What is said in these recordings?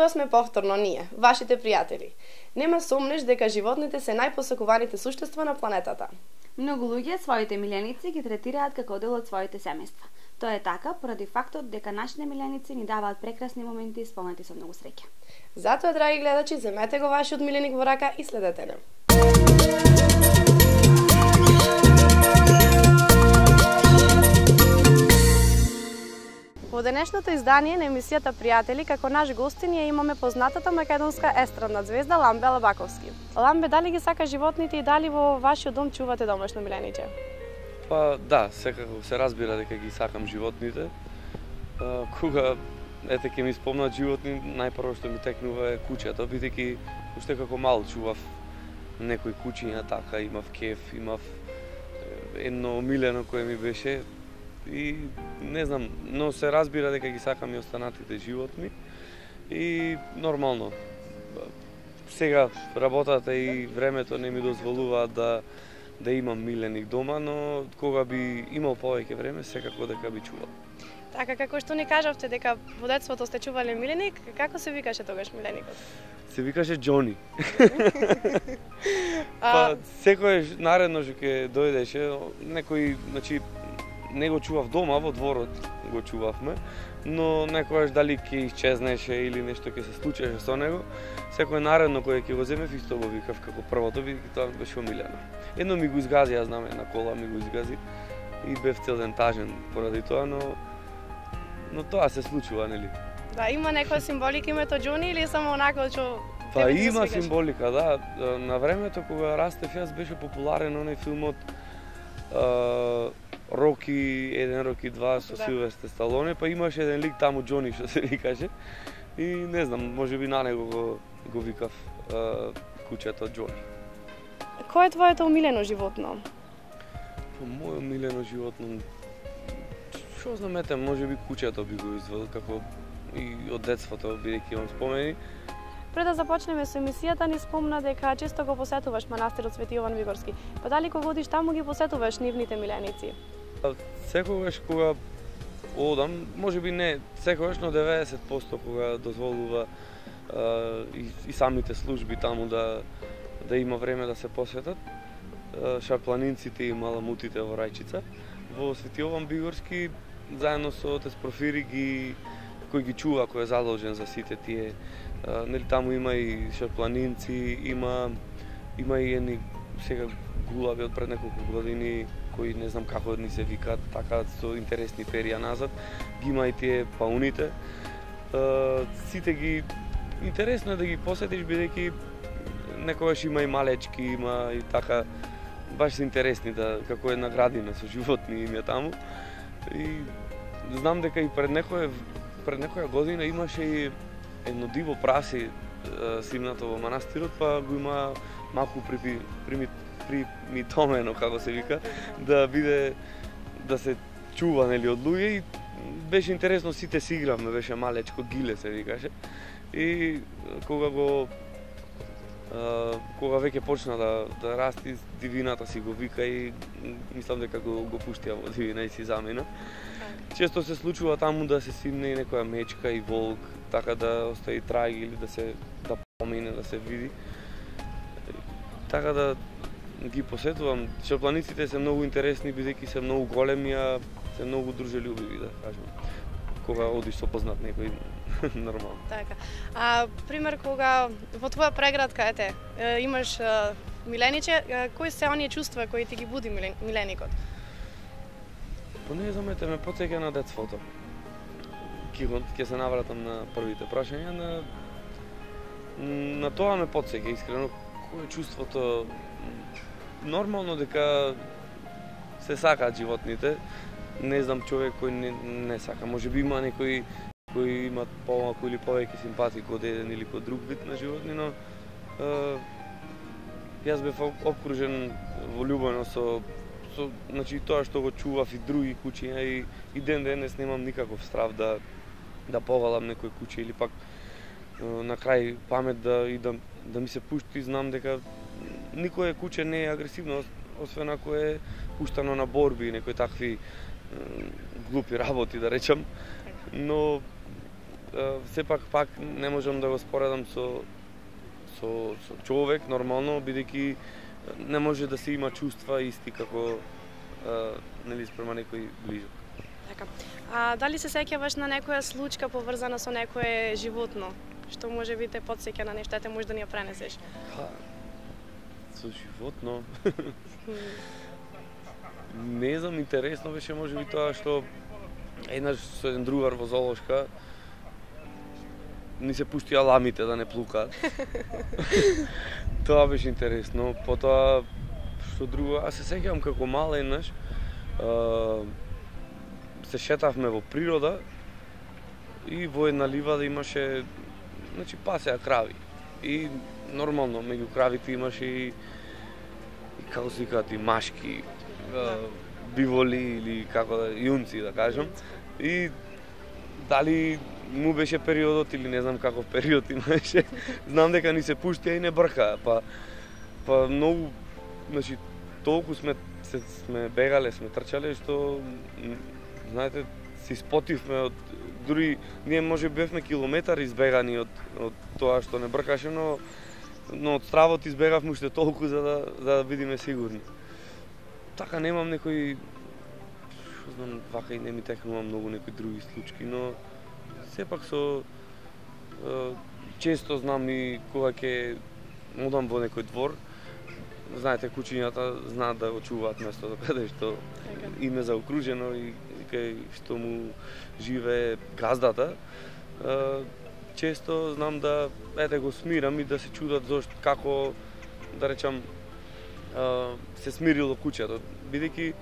Ова сме повторно ние, вашите пријатели. Нема сомнеш дека животните се најпосакуваните суштества на планетата. Многу луѓе своите миленици ги третираат како дел од своите семејства. Тоа е така поради фактот дека нашите миленици ни даваат прекрасни моменти исполнети со многу среќа. Затоа, драги гледачи, земете го вашиот миленик во рака и следете не. Во денешното издание на емисијата Пријатели, како наш гостин ја имаме познатата македонска естрадна звезда Ламбе Албаковски. Ламбе, дали ги сака животните и дали во вашиот дом чувате домашно милениче? Па да, секако се разбира дека ги сакам животните. Кога ете ќе ми спомнат животни, најпрво што ми текнува е куќето, бидејќи уште како мал чував некои куќиња, така имав кеф, имав едно омилено кое ми беше и не знам, но се разбира дека ги сакам и останатите животни и нормално. Сега работата и времето не ми дозволуваат да имам миленик дома, но кога би имал повеќе време, секако дека би чувал. Така, како што ни кажавте дека во детството сте чувале миленик, како се викаше тогаш миленикот? Се викаше Џони. Па секојаш наредно што ќе дојдеше, некој, значи, не го чував дома, во дворот го чувавме, но некојаш дали ќе исчезнеше или нешто ќе се случеше со него, секој наредно кој ќе го земев исто го викав како првото, бидејќи тоа беше омилено. Едно ми го изгази, ја знам, една кола ми го изгази и бев цел ден тажен поради тоа, но тоа се случува, нели? Да, има некоја символика името Џони или само онака што Па има символика, да. На времето кога растев јас беше популарен оној филмот Роки 1, Роки 2 со Силвестер Сталоне, па имаше еден лик таму Џони што се викаше и не знам, можеби на него го викав куќето Џони. Кој е твоето омилено животно? Па моје омилено животно, што знам, ете, можеби куќето би го извел како и од детството, бидејќи имам спомени. Пред да започнеме со емисијата, ни спомна дека често го посетуваш манастирот Свети Јован Вигорски. Па дали кога одиш таму ги посетуваш нивните миленици? Секогаш кога одам, можеби не секогаш, но 90% кога дозволува и самите служби таму да има време да се посетат, шарпланинците и маламутите во Рајчица, во Свети Јован Вигорски, заедно со отец Порфири кој ги чува, кој е задолжен за сите тие. Нели таму има и шарпланинци, има и едни сега гулави од пред неколку години кои не знам како ни се викаат, така со интересни перија назад. Ги има и тие пауните. Сите ги интересно е да ги посетиш бидејќи некогаш има и малечки, има и така баш се интересни да како една градина со животни им е таму. И знам дека и пред некоја година имаше и едно диво праси симнато во манастирот, па го има малку примитомено, како се вика, да биде, да се чува, нели, од луѓе и беше интересно, сите си игравме, беше малечко, Гиле се викаше. И кога веќе почна да расти, дивината си го вика и мислам дека го пуштија во дивина и си замина. Често се случува таму да се симне и некоја мечка и волк, така да остави траги или да помине, да се види. Така да ги посетувам. Шарпланиците се многу интересни, бидејќи се многу големи, а се многу дружелюбиви, да кажем. Кога одиш со познат некој, нормално. Така. Пример, кога во твоја преградка, имаш милениче, кои се оние чувства кои ти ги буди миленикот? Па не знам, ме потсеќа на детството. Ќе се навратам на првите прашања, на тоа ме потсеќа, искрено, кој е чувството. Нормално дека се сакаат животните, не знам човек кој не сака, можеби има некои кои имат помалку или повеќе симпатии код еден или код друг вид на животни, но јас бев обкружен во љубовно со значи тоа што го чував и други куќиња и ден денес немам никаков страв да повалам некој куќе или пак на крај памет да ми се пушти, знам дека никое куќе не е агресивно, освен ако е пуштано на борби, некои такви глупи работи, да речам. Но сепак пак не можам да го споредам со човек нормално, бидејќи не може да се има чувства исти како нели спрема некој ближок. Така. А дали се сеќаваш на некоја случка поврзана со некое животно, што може би те потсеќа на нешто, те може да ни ја пренесеш? Со животно. Не знам, интересно беше можеби тоа што еднаш со еден другар во зоолошка ни се пуштија ламите да не плукаат. Тоа беше интересно. Потоа што друго, аз се сеќавам како мал еднаш се шетавме во природа и во една ливада имаше пасеа крави. И нормално меѓу кравите имаше и како се викаат и машки биволи или како да јунци да кажам. И дали му беше периодот или не знам каков период имаше, знам дека ни се пуштија и не бркаа, па многу, толку сме бегале, сме трчале што знаете, се испотивме од дури ние може бевме километар избегани од тоа што не бркаше, но од стравот избегавме уште толку за да бидеме сигурни. Така немам некои, што знам, вака и не ми текнува многу некои други случаи, но сепак често знам и кога ќе одам во некој двор, знаете, кучињата знаат да го чуваат местото каде што им е заокружено и кај што му живее газдата. Често знам да го смирам и да се чудат зошто како да речам се смирило куќето, бидејќи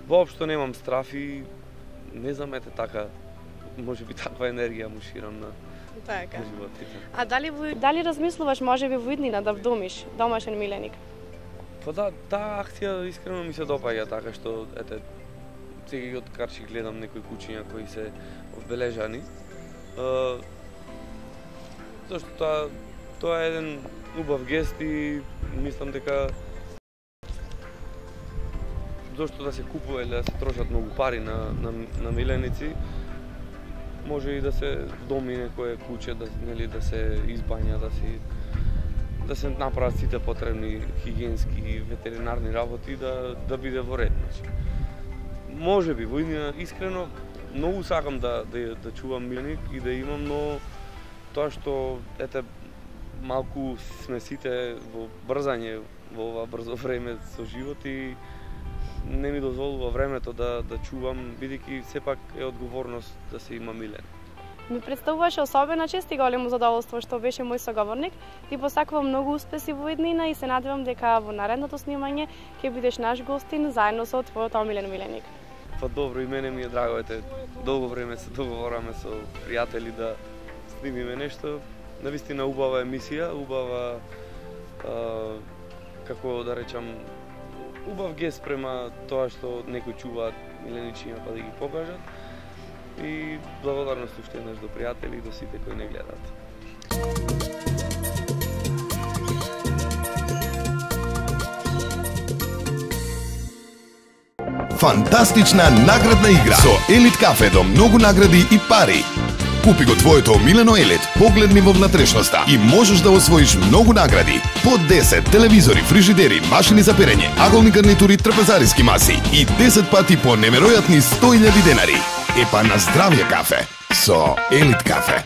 воопшто немам страф и не знам, така, можеби таква енергија му ширам на животите. А дали размислуваш можеби во иднина да вдомиш домашен миленик? Па да, таа акција искрено ми се допаѓа, така што сега од карчи гледам некои кучиња кои се одбележани. Зашто тоа е еден убав гест и мислам дека зашто да се купува или да се трошат многу пари на миленици, може и да се вдоми некое куче, да се избања, да се направат сите потребни хигиенски и ветеринарни работи да биде во ред. Може би, во иднина, искрено, многу сакам да чувам миленик и да имам, но тоа што, малку сме сите во брзање во ова брзо време со живот и не ми дозволува времето да чувам, бидејќи сепак е одговорност да се има милен. Ми представуваше особена чест и големо задоволство што беше мој соговорник. Ти посакувам многу успеси во иднина и се надевам дека во наредното снимање ќе бидеш наш гостин заедно со твојот омилен миленик. Па добро, и мене ми е драго, долго време се договораме со пријатели да снимиме нешто. Навистина убава емисија, убава како да речам убав гест према тоа што некои чуваат миленичиња па да ги покажат. И благодарност уште еднаш до пријатели и до сите кои не гледаат. Фантастична наградна игра со Елит кафе до многу награди и пари. Купи го твоето омилено Елит, погледни во внатрешноста и можеш да освоиш многу награди. По 10 телевизори, фрижидери, машини за перење, аголни гарнитури, трпезариски маси и 10 пати по неверојатни 100.000 денари. Епа на здравје кафе со Елит кафе.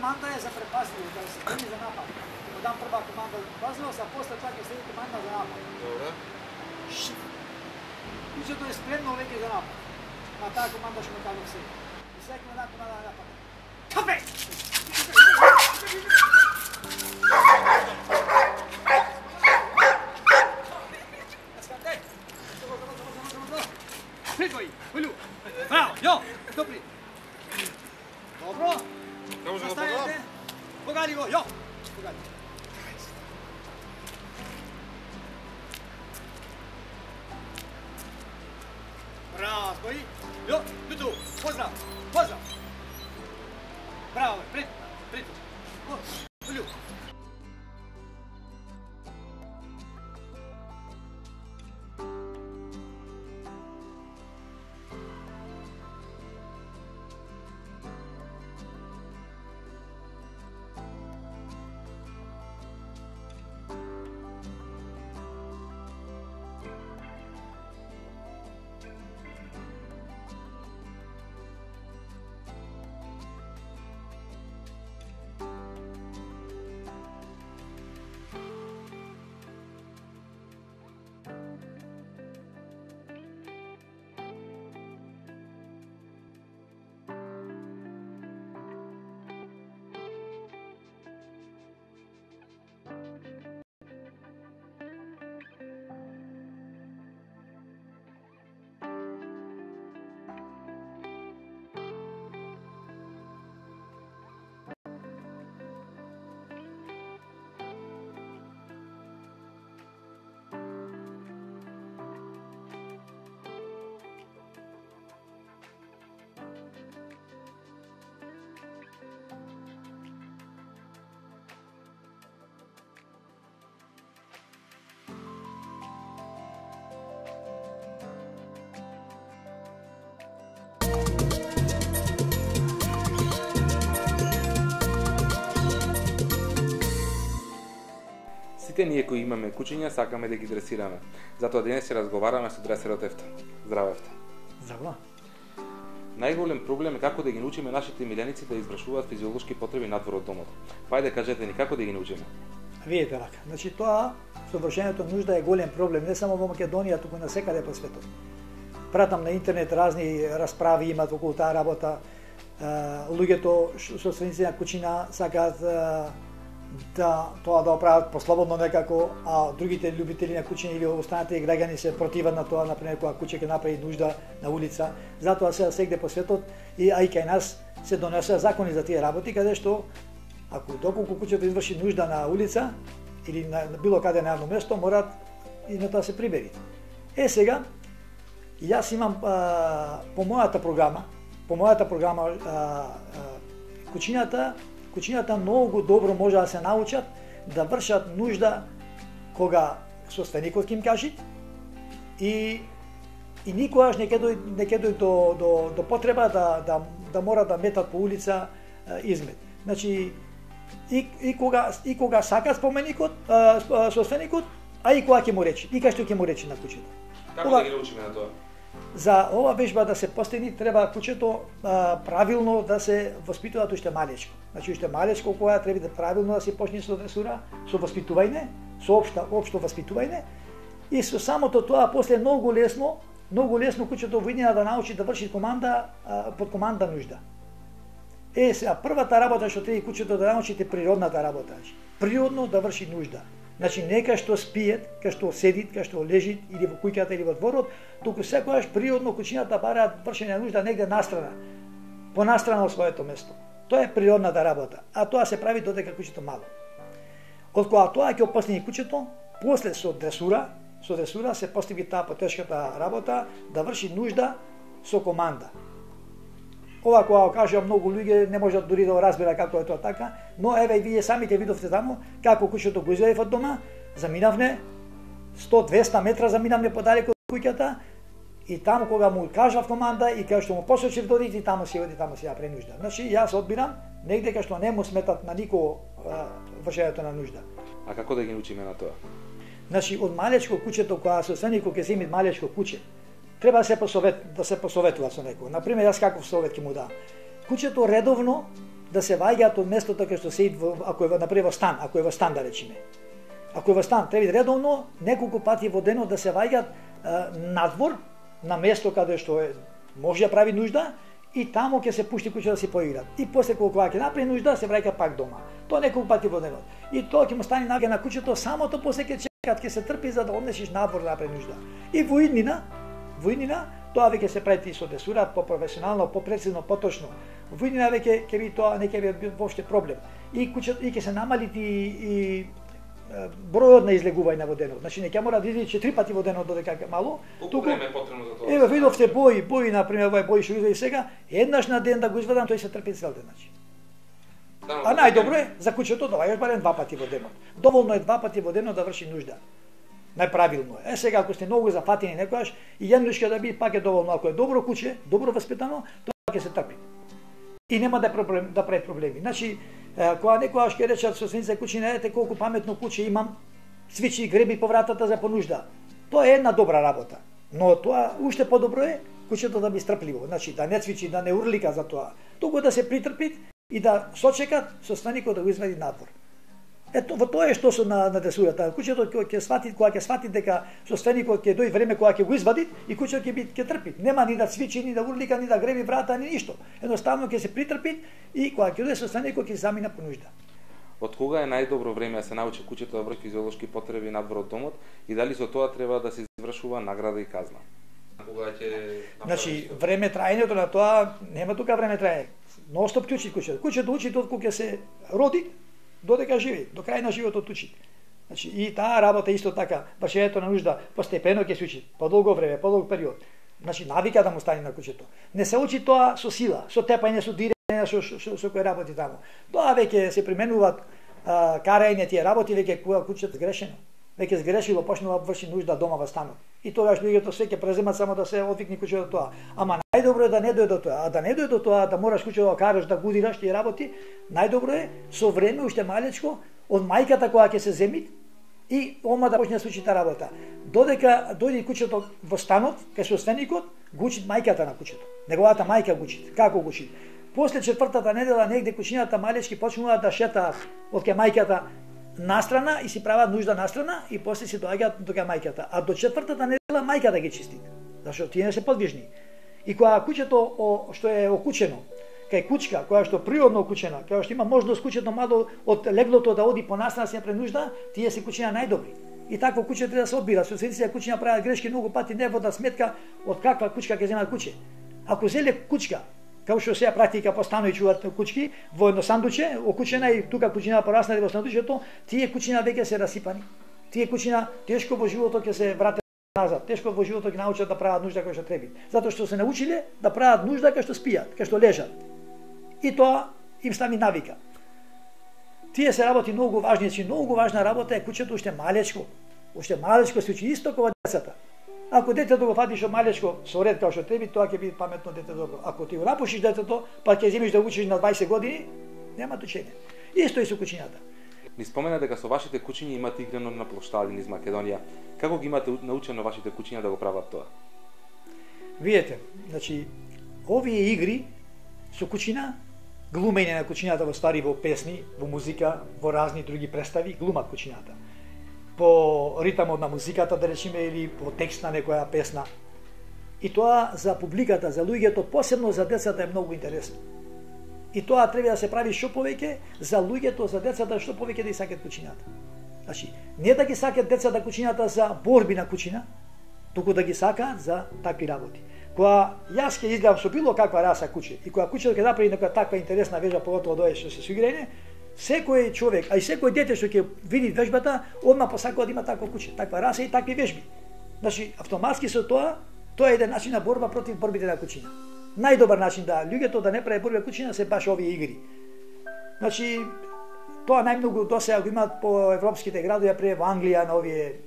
команда е за препазливост, да се преми за напад. Му дам прва команда за препазливост, а после чак е следи команда за напад. Добре. Кучето е спремно веќе за напад. На таа команда што ме кажам се. И секој една команда на напад. Капе! Придвои, Олю. Браво, јо, добри. Добро. Не може да подам. Погали го, јо. Погали. Браво, стои. Јо, туту, поздрав, поздрав. Браво, пред. Олю. Сите ние кои имаме кучиња сакаме да ги дресираме. Затоа денес ќе разговараме со дресерот Ефта. Здраво, Ефта. Здраво. Најголем проблем е како да ги научиме нашите миленици да извршуваат физиолошки потреби надвор од домот. Пајде кажете ни како да ги научиме. Видите вака. Значи тоа со вршењето нужда е голем проблем не само во Македонија, туку на секаде по светот. Пратам на интернет разни расправи имаат околу таа работа. Луѓето собственици на кучина сакаат да тоа да оправат послободно некако, а другите љубители на кучиња или останатите граѓани се противат на тоа, например кога куче ќе направи нужда на улица. Затоа се сегде по светот и кај нас се донесува закони за тие работи, каде што ако доколку кучето изврши нужда на улица или на било каде на едно место, мораат и на тоа се прибери. Сега јас имам по мојата програма кучињата многу добро може да се научат да вршат нужда кога собственикот ќе им кажи и никогаш не ќе дојде до потреба да мора да метат по улица измет. Значи и кога сака споменикот, собственикот, а и кога ќе му рече, и кај што ќе му рече на кучето. Како да ги научиме на тоа? За ова вежба да се постигне треба кучето правилно да се воспитува уште малечко. Значи уште малечко кога треба да правилно да се почне со дресура, со воспитување, со општо воспитување и со самото тоа после многу лесно кучето видина да научи да врши команда под команда нужда. Сега првата работа што треба кучето да научите природната работа. Природно да врши нужда. Значи не кај што спиет, кај што седит, кај што лежит или во куќата или во дворот, туку секогаш природно кучињата бараат вршење нужда негде настрана, понастрана од своето место. Тоа е природната работа, а тоа се прави додека кучето мало. Од кога тоа ќе опостигне кучето, после со дресура се постига таа потешката работа да врши нужда со команда. Ова кога кажа многу луѓе не можат дури да го разбера како е тоа така, но еве и вие сами ќе видовте таму како кучето го излезе од дома, заминавне 100-200 метра заминавне подалеку од куќата и таму кога му кажав команда и кога што му посочив да оди, таму си оди, таму си ја пренужда. Значи јас одбирам негде кај што не му сметат на никого вршењето на нужда. А како да ги научиме на тоа? Значи од малечко кучето кога собственикот ќе земи малечко куче, треба да се посоветува со некој. Например, јас каков совет ќе му дам. Кучето редовно да се ваѓаат од местото кај што се ако е например во стан, ако е во стан да речеме. Ако е во стан, треба редовно неколку пати во денот да се ваѓаат надвор на место каде што е може да прави нужда и таму ќе се пушти куќа да се поиграат. И после кога ќе направи нужда се враќа пак дома. Тоа неколку пати во денот. И тоа ќе му стане навика на куќето, самото после ќе чекат, ќе се трпи за да однесиш надвор да направи нужда. И во иднина тоа веќе се прави со десура, по-професионално, по-прецизно, поточно. Во иднина веќе ќе би тоа не ќе би воопште проблем. И куќето и ќе се намали и бројот на излегување во денот. Значи не ќе мора да излезе 4 пати во денот додека мало. Колку време е потребно за тоа? Еве видовте бои на пример бои што извади сега, еднаш на ден да го извадам, тој се трпи цел ден, значи. А најдобро е за куќето да ваѓаш барем 2 пати во денот. Доволно е 2 пати во денот да врши нужда. Најправилно е. Сега ако сте многу зафатени некојаш и еднушка да биде пак е доволно. Ако е добро куќе, добро воспитано, тоа ќе се трпи. И нема да прави проблеми. Значи кога некојаш ќе речат собственица куќина, ете колку паметно куќе имам, свичи и греби по вратата за понужда. Тоа е една добра работа. Но тоа уште подобро е куќето да би стрпливо. Значи да не цвичи, да не урлика за тоа. Туку да се притрпи и да сочекат собственикот да го извади надвор. Ето во тоа е што со на десурата. Куќето ќе свати кога ќе свати дека собственикот ќе дојде време кога ќе го извади и куќето ќе трпи. Нема ни да цвичи, ни да урлика, ни да греби врата, ни ништо. Едноставно ќе се притрпи и кога ќе дојде собственикот ќе замина по нужда. Од кога е најдобро време да се научи куќето да врши физиолошки потреби надвор од домот и дали со тоа треба да се извршува награда и казна? Кога ќе Значи време траењето на тоа нема тука време траење. Ностоп ќе учи куќето. Куќето учи од кога ќе се роди додека живи, до крај на животот учи. Значи и таа работа исто така, вршењето на нужда постепено ќе се учи, подолго време, подолг период. Значи навика да му стане на куќето. Не се учи тоа со сила, со тепање, со дирење, со кој работи таму. Тоа веќе се применуваат карање тие работи веќе кога куќето сгрешено. Веќе сгрешило, почнува да врши нужда дома во станот. И тогаш луѓето се ќе преземат само да се одвикни куќето до тоа. Ама најдобро е да не дојде до тоа. А да не дојде до тоа, да мораш куќето да караш, да гудираш тие работи, најдобро е со време уште малечко од мајката кога ќе се земи и ома да почне да се учи таа работа. Додека дојде куќето во станот, кај собственикот, го учи мајката на куќето. Неговата мајка го учи. Како го учи? После 4-та недела негде куќината малечки почнуваат да шетаат од кај мајката настрана и си прават нужда настрана и после си доаѓаат до кај мајката. А до 4-та недела мајката ги чисти. Зашто тие не се подвижни. И кога куќето што е окучено, кај кучка, која што природно окучена, која што има можност куќето мало од леглото да оди по настрана си пренужда, тие се куќина најдобри. И такво куќе треба да се одбира. Собствениците куќина прават грешки многу пати, не вода сметка од каква кучка ќе земат куќе. Ако зеле кучка, како што сега практика по станови чуваат кучки во едно сандуче, окучена и тука кучина пораснали во сандучето, тие кучина веќе се расипани. Тие кучина тешко во животот ќе се вратат назад. Тешко во животот ќе научат да прават нужда кој што треба. Затоа што се научиле да прават нужда кај што спијат, кај што лежат. И тоа им стани навика. Тие се работи многу важни, че многу важна работа е куќето уште малечко. Уште малечко се учи исто кога децата. Ако детето го фатиш од малечко со ред како што треба, тоа ќе биде паметно дете добро. Ако ти го напушиш детето, па ќе земиш да учиш на 20 години, нема учење. Исто и со куќињата. Ни спомена дека со вашите куќиња имате играно на плоштади низ Македонија. Како ги имате научено вашите куќиња да го прават тоа? Видете, значи овие игри со куќина, глумење на куќињата во стари во песни, во музика, во разни други представи, глумат куќињата. По ритамот на музиката, да речеме, или по текст на некоја песна. И тоа за публиката, за луѓето, посебно за децата е многу интересно. И тоа треба да се прави што повеќе за луѓето, за децата, што повеќе да ги сакат куќињата. Значи, не да ги сакат децата куќињата за борби на куќина, туку да ги сакаат за такви работи. Кога јас ќе изгледам со било каква раса куќе и кога куќето ќе направи некоја таква интересна вежба, поготово дое што се суиграње, секој човек, а и секој дете што ќе види вежбата, одма посакува да има такво куќе, таква раса и такви вежби. Значи, автоматски со тоа е еден начин на борба против борбите на куќина. Најдобар начин да луѓето да не прави борби на куќина се баш овие игри. Значи, тоа најмногу досега го имаат по европските градови, пред во Англија на овие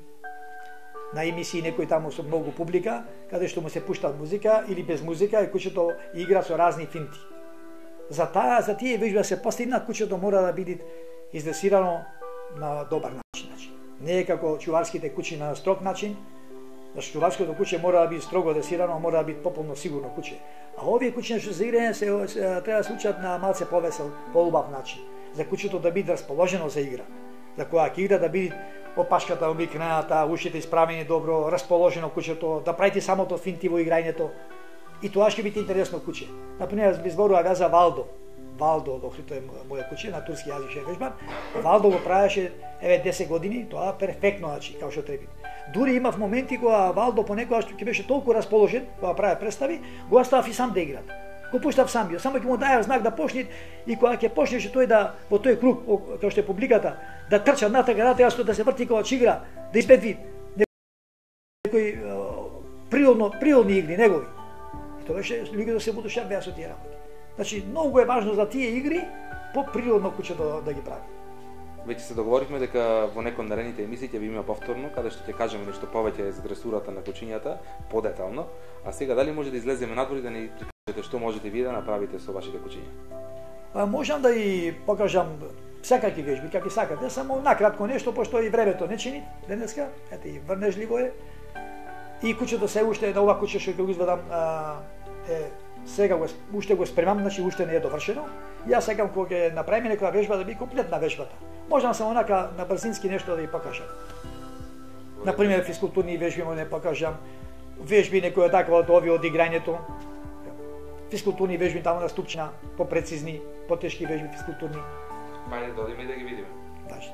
на емисии некои таму со многу публика, каде што му се пушта музика или без музика и куќето игра со разни финти. За тие вежби се постигнат, куќето мора да биде издресирано на добар начин. Не е како чуварските куќи на строг начин, Значи чуварското куќе мора да биде строго дресирано, мора да биде пополно сигурно куќе. А овие куќи што за играње треба да се учат на малце повесел, полубав начин. За куќето да биде расположено за игра. За кога ќе игра да биде опашката обикнената, ушите исправени добро, расположено куќето, да правите самото финти во играњето. И тоа ќе биде интересно куќе. Например, би зборува за Валдо. Валдо, докато е моја куќе на турски јазик ше вежбар. Валдо го правеше 10 години, тоа перфектно, значи, како што треба. Дури имав моменти кога Валдо понекогаш ќе беше толку расположен, кога прави представи, го оставав и сам да игра. Го пуштав сам био, само ќе му даја знак да почне и кога ќе почнеше тој да во тој круг, како што е публиката, да трча натака, да се врти кога игра, да испедви некои природни игри негови. И тоа беше луѓето се будушат беа со тие работи. Значи, многу е важно за тие игри по природно куќе да ги прави. Веќе се договоривме дека во некој од наредните емисии ќе ви има повторно, каде што ќе кажеме нешто повеќе за дресурата на кучињата, подетално. А сега дали може да излеземе надвор и да ни прикажете што можете вие да направите со вашите кучиња? Можам да и покажам секаки вежби, како сакате, само накратко нешто, пошто и времето не чини денеска, ете и врнежливо е. И куќето се уште, на ова куќе што ќе го изведам, сега уште го спремам, значи уште не е довршено. Јас сакам кога ќе направиме некоја вежба да биде комплетна вежбата. Можам само онака на брзински нешто да ви покажам. Например, физкултурни вежби може да покажам, вежби некоја таква од овие од играњето. Физкултурни вежби таму на ступчина, попрецизни, потешки вежби физкултурни. Мајде да одиме и да ги видиме. Важно.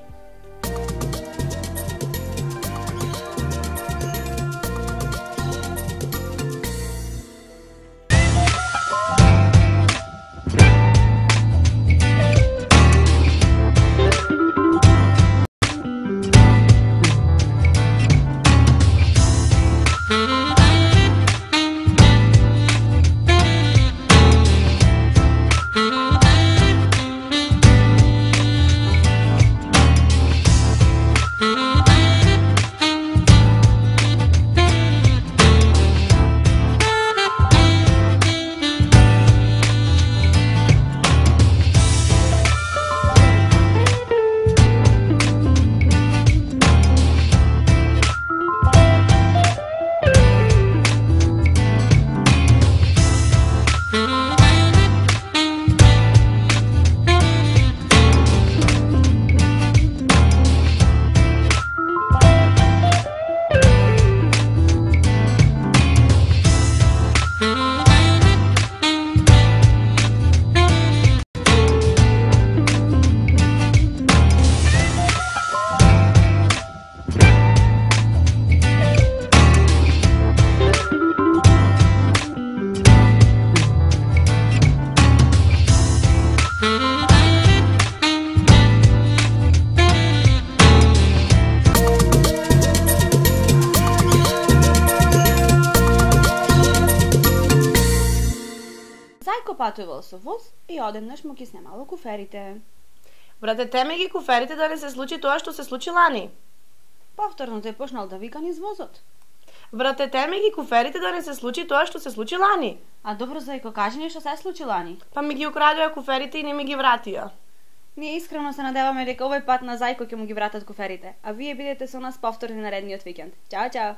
Патувал со воз и одеднаш му ги снемало куферите. Брате, теме ги куферите да не се случи тоа што се случи лани. Повторно тој почнал да вика низ возот. Брате, теме ги куферите да не се случи тоа што се случи лани. А добро, Зајко, кажи ни што се случи лани. Па ми ги украдоа куферите и не ми ги вратија. Ние искрено се надеваме дека овој пат на Зајко ќе му ги вратат куферите, а вие бидете со нас повторно наредниот викенд. Чао, чао!